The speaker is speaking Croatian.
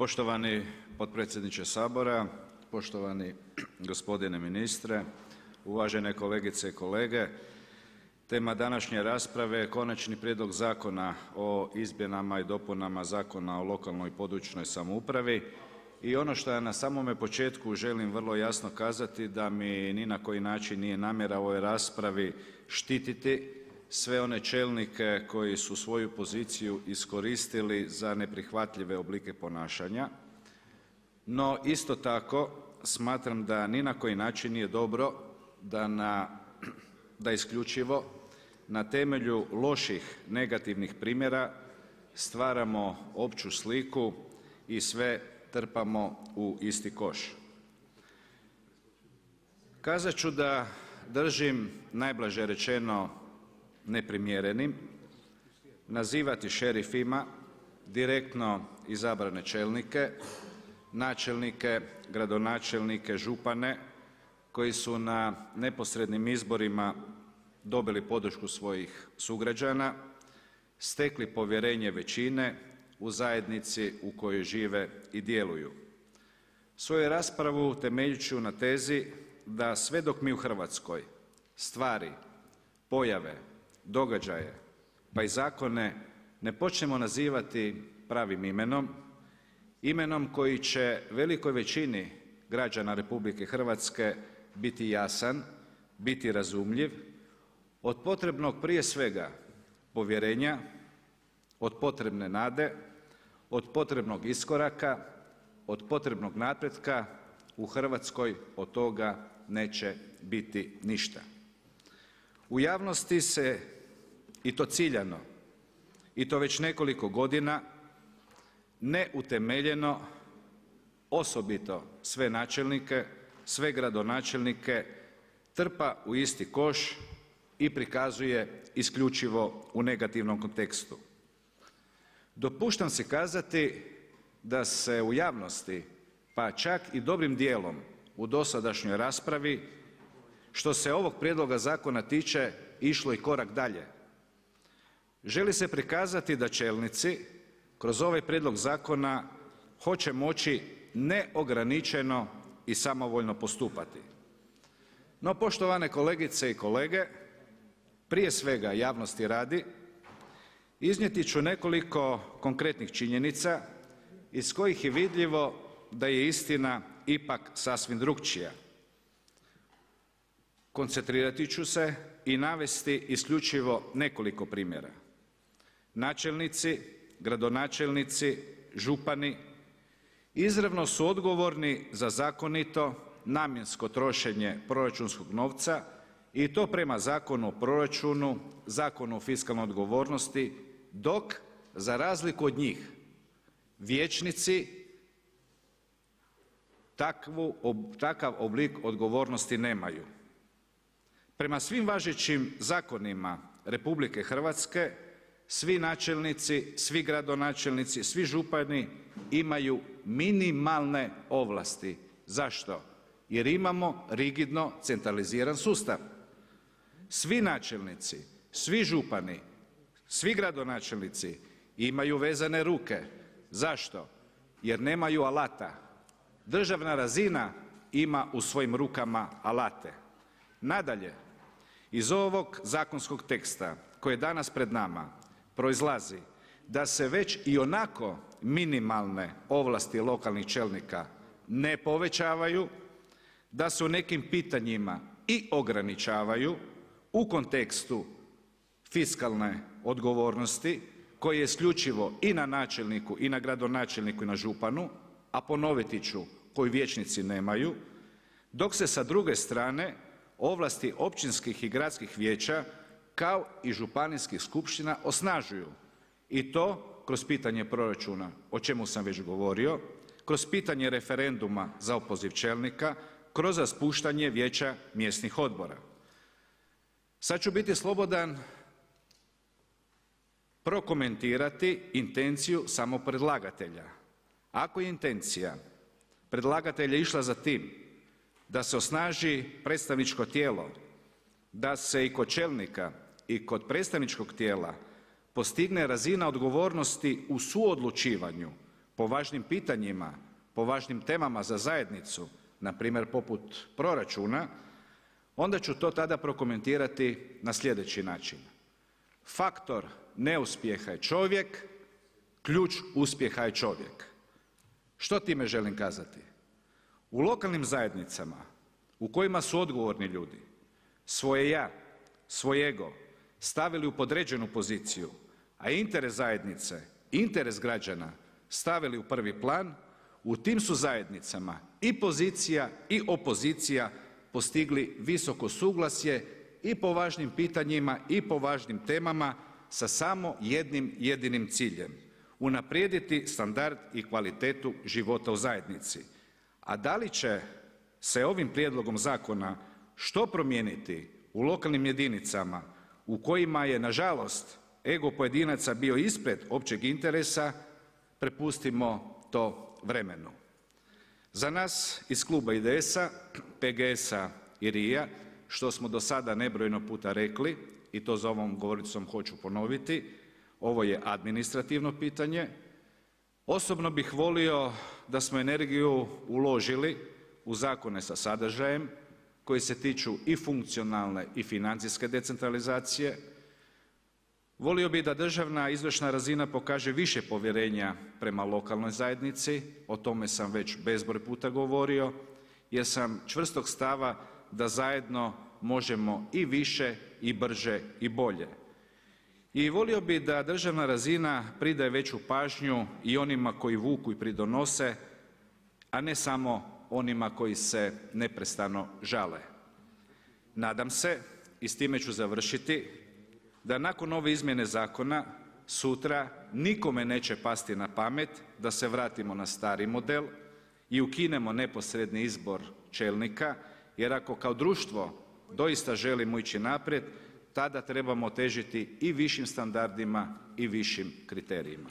Poštovani potpredsjedniče Sabora, poštovani gospodine ministre, uvažene kolegice i kolege. Tema današnje rasprave je Konačni prijedlog zakona o izmjenama i dopunama Zakona o lokalnoj i područnoj samoupravi. I ono što ja na samome početku želim vrlo jasno kazati da mi ni na koji način nije namjera u ovoj raspravi štititi sve one čelnike koji su svoju poziciju iskoristili za neprihvatljive oblike ponašanja. No isto tako smatram da ni na koji način nije dobro da isključivo na temelju loših negativnih primjera stvaramo opću sliku i sve trpamo u isti koš. Kazat ću da držim najblaže rečeno neprimjerenim nazivati šerifima direktno izabrane čelnike, načelnike, gradonačelnike, župane koji su na neposrednim izborima dobili podršku svojih sugrađana, stekli povjerenje većine u zajednici u kojoj žive i djeluju. Svoju raspravu temeljit ću na tezi da sve dok mi u Hrvatskoj stvari, pojave, događaje pa i zakone ne počnemo nazivati pravim imenom, imenom koji će velikoj većini građana Republike Hrvatske biti jasan, biti razumljiv, od potrebnog prije svega povjerenja, od potrebne nade, od potrebnog iskoraka, od potrebnog napretka u Hrvatskoj od toga neće biti ništa. U javnosti se, i to ciljano, i to već nekoliko godina, neutemeljeno, osobito sve načelnike, sve gradonačelnike trpa u isti koš i prikazuje isključivo u negativnom kontekstu. Dopuštam si kazati da se u javnosti, pa čak i dobrim dijelom u dosadašnjoj raspravi, što se ovog prijedloga zakona tiče, išlo i korak dalje. Želi se prikazati da čelnici kroz ovaj prijedlog zakona hoće moći neograničeno i samovoljno postupati. No, poštovane kolegice i kolege, prije svega javnosti radi, iznijeti ću nekoliko konkretnih činjenica iz kojih je vidljivo da je istina ipak sasvim drukčija. Koncentrirati ću se i navesti isključivo nekoliko primjera. Načelnici, gradonačelnici, župani izravno su odgovorni za zakonito, namjensko trošenje proračunskog novca i to prema Zakonu o proračunu, Zakonu o fiskalnoj odgovornosti, dok za razliku od njih vijećnici takav oblik odgovornosti nemaju. Prema svim važećim zakonima Republike Hrvatske svi načelnici, svi gradonačelnici, svi župani imaju minimalne ovlasti. Zašto? Jer imamo rigidno centraliziran sustav. Svi načelnici, svi župani, svi gradonačelnici imaju vezane ruke. Zašto? Jer nemaju alata. Državna razina ima u svojim rukama alate. Nadalje, iz ovog zakonskog teksta koji je danas pred nama proizlazi da se već i onako minimalne ovlasti lokalnih čelnika ne povećavaju, da se u nekim pitanjima i ograničavaju u kontekstu fiskalne odgovornosti koje je isključivo i na načelniku i na gradonačelniku i na županu, a ponoviti ću koju vijećnici nemaju, dok se sa druge strane ovlasti općinskih i gradskih vijeća kao i županijskih skupština osnažuju i to kroz pitanje proračuna, o čemu sam već govorio, kroz pitanje referenduma za opoziv čelnika, kroz raspuštanje vijeća mjesnih odbora. Sad ću biti slobodan prokomentirati intenciju samog predlagatelja. Ako je intencija predlagatelja išla za tim da se osnaži predstavničko tijelo, da se i kod čelnika i kod predstavničkog tijela postigne razina odgovornosti u suodlučivanju po važnim pitanjima, po važnim temama za zajednicu, na primjer poput proračuna, onda ću to tada prokomentirati na sljedeći način. Faktor neuspjeha je čovjek, ključ uspjeha je čovjek. Što time želim kazati? U lokalnim zajednicama u kojima su odgovorni ljudi svoje ja, svoj ego stavili u podređenu poziciju, a interes zajednice, interes građana stavili u prvi plan, u tim su zajednicama i pozicija i opozicija postigli visoko suglasje i po važnim pitanjima i po važnim temama sa samo jednim jedinim ciljem: unaprijediti standard i kvalitetu života u zajednici. A da li će se ovim prijedlogom zakona što promijeniti u lokalnim jedinicama u kojima je nažalost ego pojedinaca bio ispred općeg interesa, prepustimo to vremenu. Za nas iz kluba IDS-a, PGS-a i RI-a, što smo do sada nebrojeno puta rekli i to za ovom govornicom hoću ponoviti, ovo je administrativno pitanje. Osobno bih volio da smo energiju uložili u zakone sa sadržajem koji se tiču i funkcionalne i financijske decentralizacije. Volio bih da državna izvršna razina pokaže više povjerenja prema lokalnoj zajednici, o tome sam već bezbroj puta govorio, jer sam čvrstog stava da zajedno možemo i više i brže i bolje. I volio bih da državna razina pridaje veću pažnju i onima koji vuku i pridonose, a ne samo onima koji se neprestano žale. Nadam se, i s time ću završiti, da nakon ove izmjene zakona sutra nikome neće pasti na pamet da se vratimo na stari model i ukinemo neposredni izbor čelnika, jer ako kao društvo doista želimo ići naprijed, tada trebamo težiti i višim standardima i višim kriterijima.